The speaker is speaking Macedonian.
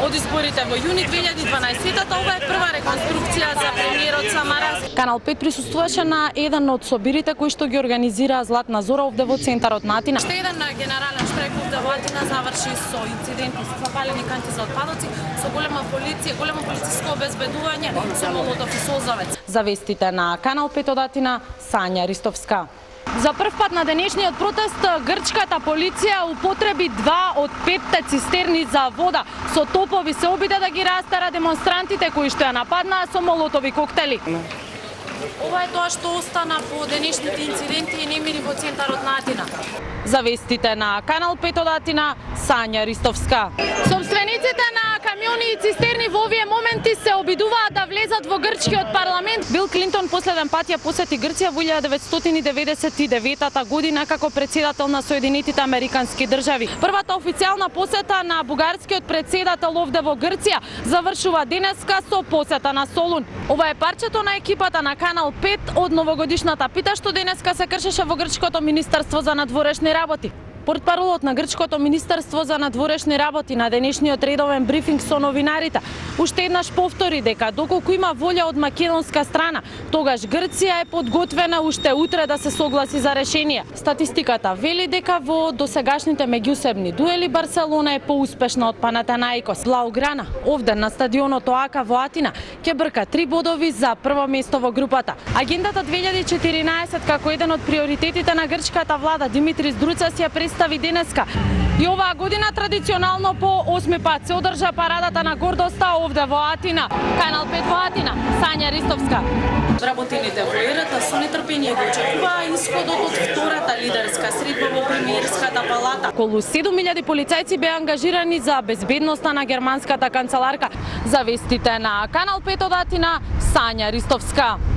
од изборите во јуни 2012-та, ова е прва реконструкција за премиерот Самарас. Канал 5 присуствуваше на еден од собирите кои што ги организираа Златна Зора овде во центарот на Атина. Ще еден генерален штрек овде во Атина заврши со инциденти со запалени канти за отпадоци, со голема полиција, големо полициско обезбедување, со молотов и созавец. За вестите на Канал 5 од Атина, Сања Ристовска. За прв пат на денешниот протест грчката полиција употреби 2 од 5 цистерни за вода. Со топови се обиде да ги растера демонстрантите кои што ја нападнаа со молотови коктели. Ова е тоа што остана по денешните инциденти и немири во центарот на Атина. За вестите на Канал 5 од Атина, Сања Ристовска. Собствениците на камиони и цистерни во овие моменти се обидуваат да влезат во грчкиот парламент. Бил Клинтон последен пат ја посети Грција во 1999 година како председател на Соединетите Американски држави. Првата официјална посета на бугарскиот председател овде во Грција завршува денеска со посета на Солун. Ова е парчето на екипата на Канал 5 од новогодишната пита што денеска се кршеше во грчкото Министерство за надворешни работи. Портпаролот на грчкото Министерство за надворешни работи на денешниот редовен брифинг со новинарите уште еднаш повтори дека доколку има волја од македонска страна, тогаш Грција е подготвена уште утре да се согласи за решение. Статистиката вели дека во досегашните меѓусебни дуели Барселона е поуспешна од Панатенаикос. Блауграна овде на стадионот ОАКА во Атина ќе брка 3 бодови за прво место во групата. Агендата 2014 како еден од приоритетите на грчката влада Димитрис Друцас ја представи денеска. И оваа година традиционално по 8 пат се одржа парадата на гордоста овде во Атина. Канал 5 во Атина, Сања Ристовска. Вработените во ЕРТ со нетрпение го очекуваа исходот од втората лидерска средба во премиерската палата. Околу 7000 полицајци беа ангажирани за безбедноста на германската канцеларка. За вестите на Канал 5 од Атина, Сања Ристовска.